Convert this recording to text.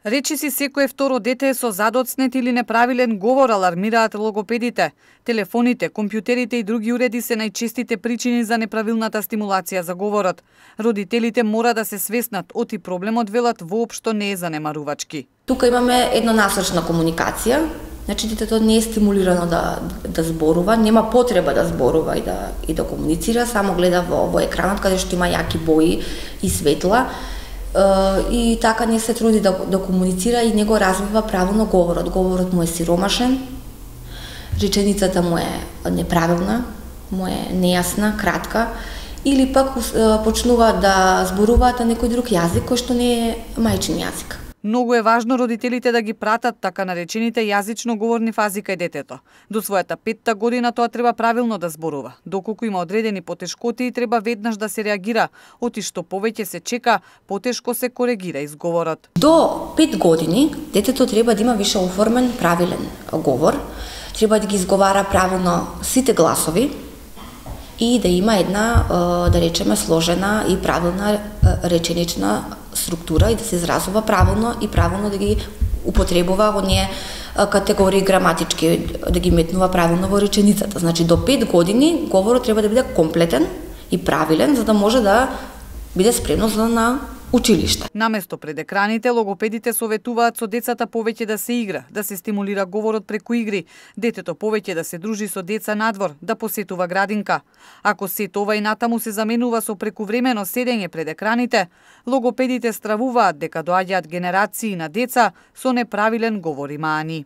Речиси секое второ дете е со задоцнет или неправилен говор, алармираат логопедите. Телефоните, компјутерите и други уреди се најчестите причини за неправилната стимулација за говорот. Родителите мора да се свеснат, оти проблемот, велат, воопшто не е занемарувачки. Тука имаме еднонасочна комуникација. Значи, детето не е стимулирано да зборува, нема потреба да зборува и да комуницира, само гледа во екранот каде што има јаки бои и светла. И така не се труди да комуницира и не го развива правилно говорот. Говорот му е сиромашен, реченицата му е неправилна, му е нејасна, кратка, или пак почнува да зборуваат на некој друг јазик кој што не е мајчин јазик. Многу е важно родителите да ги пратат така наречените јазично говорни фази кај детето. До својата 5-та година тоа треба правилно да зборува. Доколку има одредени потешкоти, треба веднаш да се реагира. Оти што повеќе се чека, потешко се коригира изговорот. До 5 години детето треба да има више оформен правилен говор, треба да ги изговара правилно сите гласови и да има една, да речеме, сложена и правилна реченична структура и да се изразува правилно и правилно да ги употребува оние категории граматички, да ги метнува правилно во реченицата. Значи до 5 години говорот треба да биде комплетен и правилен за да може да биде спремно за на училиште. Наместо пред екраните, логопедите советуваат со децата повеќе да се игра, да се стимулира говорот преку игри, детето повеќе да се дружи со деца надвор, да посетува градинка. Ако сето ова и натаму се заменува со прекувремено седење пред екраните, логопедите стравуваат дека доаѓаат генерации на деца со неправилен говор и маани.